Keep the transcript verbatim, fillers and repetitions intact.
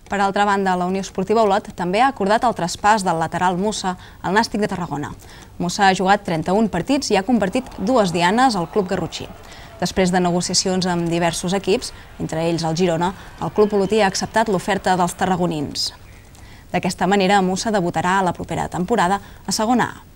Per altra banda, la Unió Esportiva Olot també ha acordat el traspàs del lateral Musa al Nàstic de Tarragona. Musa ha jugat trenta-un partits i ha convertit dues dianes al club garrotxí. Després de negociacions amb diversos equips, entre ells el Girona, el club olotí ha acceptat l'oferta dels tarragonins. D'aquesta manera, Musa debutarà a la propera temporada a segona A.